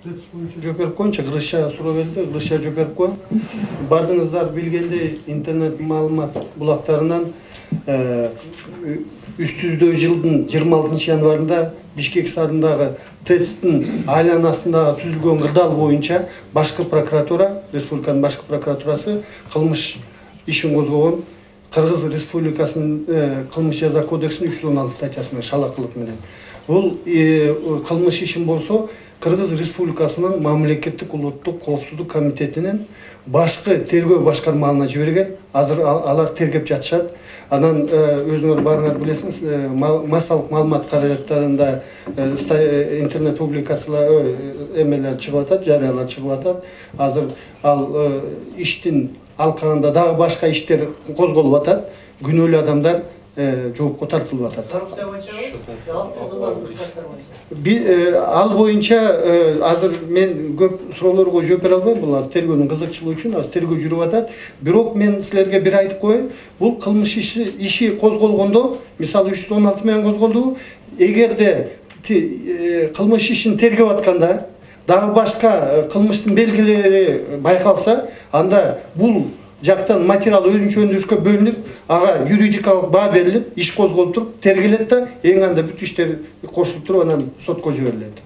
Жөперкөнчө Кыргызча суроо берди, кыргызча Жөперко. Бардыңыздар билгендей интернет маалымат булактарынан 300-жылдын 26 январында Бишкек шаарындагы ТЭЦтин айланасындагы түзүлгөн кырдаал боюнча башкы прокуратура, республиканын башкы прокуратурасы кылмыш ишин козгогон. Кыргыз Республикасынын кылмыш жаза кодексинин 316 статьясына шалакылык менен. Бул кылмыш ишин болсо Кыргыз Республикасынын мамлекеттик улуттук коопсуздук комитетинин башкы тергөө башкармаларына жиберген. Азыр алар тергеп жатышат. Анан өзүңөр барыңар билесиңиз, массалык маалымат каражаттарында интернет публикациялар эмелер чыгып атат, жарыялар чыгып атат. Азыр ал иштин алкагында дагы башка иштер козголуп атат. Күнөөлүү адамдар жоопко тартылып атат. Коррупция Ал боюнча азыр мен көп суроолорго жооп бере албайм. Бул тергөөнүн кызыкчылыгы үчүн азыр тергөө жүрүп атат. Бирок мен силерге бир айтып коеюн. Бул кылмыш иши козголгондо, мисалы 316 менен козголду. Эгерде кылмыш ишин тергеп атканда дагы башка кылмыштын белгилери байкалса, анда бул жактан материал өзүнчө өндүрүшкө бөлүнүп, ага юридикалык баа берилип, иш козголуп туруп, тергелет да, эң анда бүт иштер кошулуп туруп, анан сотко жиберилет.